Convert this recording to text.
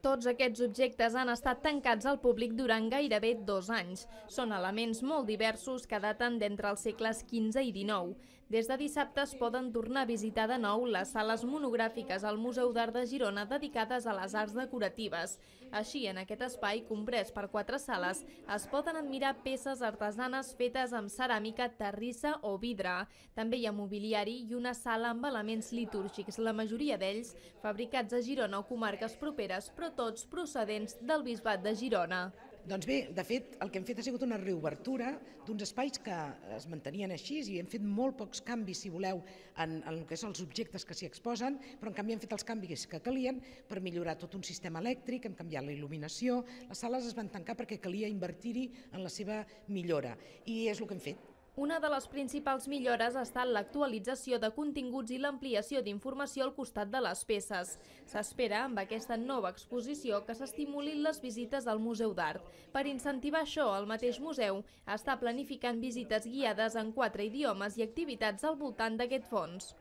Tots aquests objectes han estat tancats al públic durant gairebé 2 anys. Són elements molt diversos que daten d'entre els segles XV i XIX. Des de dissabte es poden tornar a visitar de nou les sales monogràfiques al Museu d'Art de Girona dedicades a les arts decoratives. Així, en aquest espai, comprès per 4 sales, es poden admirar peces artesanes fetes amb ceràmica, terrissa o vidre. També hi ha mobiliari i una sala amb elements litúrgics, la majoria d'ells fabricats a Girona o comarques properes, però tots procedents del Bisbat de Girona. Doncs bé, de fet, el que hem fet ha sigut una reobertura d'uns espais que es mantenien així i hem fet molt pocs canvis, si voleu, en el que són els objectes que s'hi exposen, però en canvi hem fet els canvis que calien per millorar tot un sistema elèctric, hem canviat la il·luminació, les sales es van tancar perquè calia invertir-hi en la seva millora i és el que hem fet. Una de les principals millores ha estat l'actualització de continguts i l'ampliació d'informació al costat de les peces. S'espera, amb aquesta nova exposició, que s'estimulin les visites al Museu d'Art. Per incentivar això, el mateix museu està planificant visites guiades en 4 idiomes i activitats al voltant d'aquest fons.